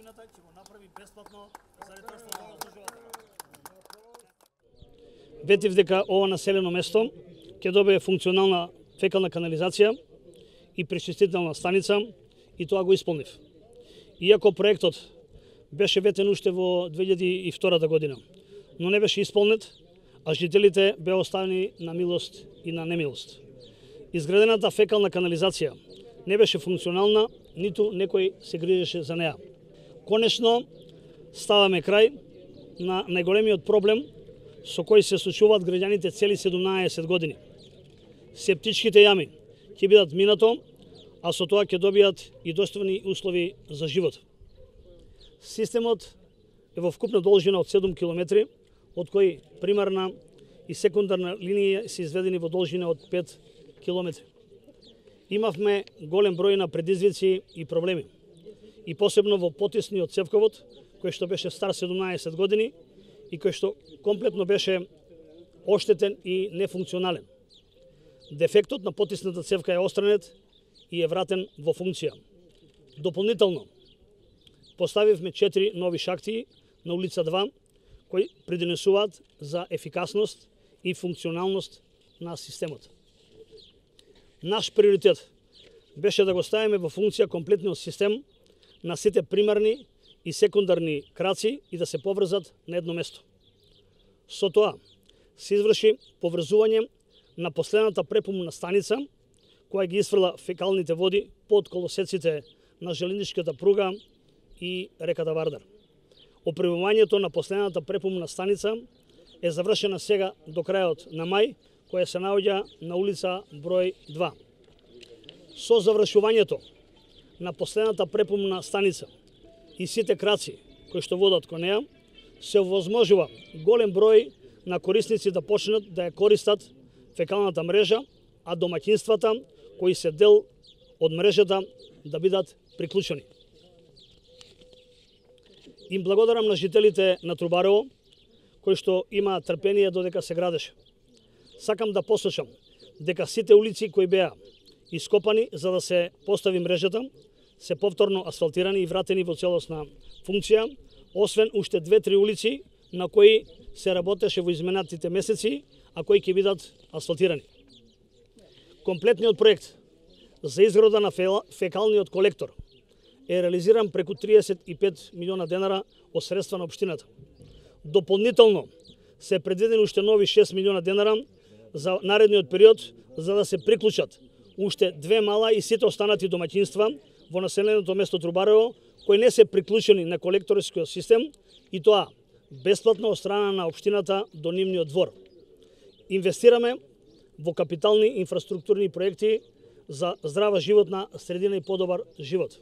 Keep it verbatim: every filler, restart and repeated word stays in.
општината ќе го направи бесплатно заради тоа што го заслужувате. Ветив дека ова населено место ќе добие функционална фекална канализација и пречистителна станица и тоа го исполнив. Иако проектот беше ветен уште во две илјади и втора година, но не беше исполнет, а жителите беа оставени на милост и на немилост. Изградената фекална канализација не беше функционална, ниту некој се грижеше за неа. Конечно, ставаме крај на најголемиот проблем со кој се случуваат граѓаните цели седумнаесет години. Септичките јами ќе бидат минато, а со тоа ќе добијат и достојни услови за живот. Системот е во вкупна должина од седум километри, од кои примарна и секундарна линија се изведени во должина од пет километри. Имавме голем број на предизвици и проблеми, и посебно во потисниот цевковод, кој што беше стар седумнаесет години и кој што комплетно беше оштетен и нефункционален. Дефектот на потисната цевка е отстранет и е вратен во функција. Дополнително, поставивме четири нови шахти на улица два, кои придонесуваат за ефикасност и функционалност на системот. Наш приоритет беше да го ставиме во функција комплетниот систем на сите примарни и секундарни краци и да се поврзат на едно место. Со тоа се изврши поврзување на последната препомна станица, која ги исфрла фекалните води под колосеците на железничката пруга и реката Вардар. Опремувањето на последната препомна станица е завршена сега до крајот на мај, која се наоѓа на улица број два. Со завршувањето на последната препомна станица и сите краци кои што водат кон неа, се овозможува голем број на корисници да почнат да ја користат фекалната мрежа, а домаќинствата кои се дел од мрежата да бидат приклучени. Им благодарам на жителите на Трубарево, кои што имаат трпение додека се градеше. Сакам да посочам дека сите улици кои беа ископани за да се постави мрежата, се повторно асфалтирани и вратени во целосна функција, освен уште две-три улици на кои се работеше во изминатите месеци, а кои ќе бидат асфалтирани. Комплетниот проект за изграда на фекалниот колектор е реализиран преку триесет и пет милиона денара од средства на општината. Дополнително се предвидени уште нови шест милиона денара за наредниот период за да се приклучат уште две мала и сите останати домаќинства во населеното место Трубарево кои не се приклучени на колекторскиот систем и тоа бесплатно од страна на општината до нивниот двор. Инвестираме во капитални инфраструктурни проекти за здрава животна средина и подобар живот.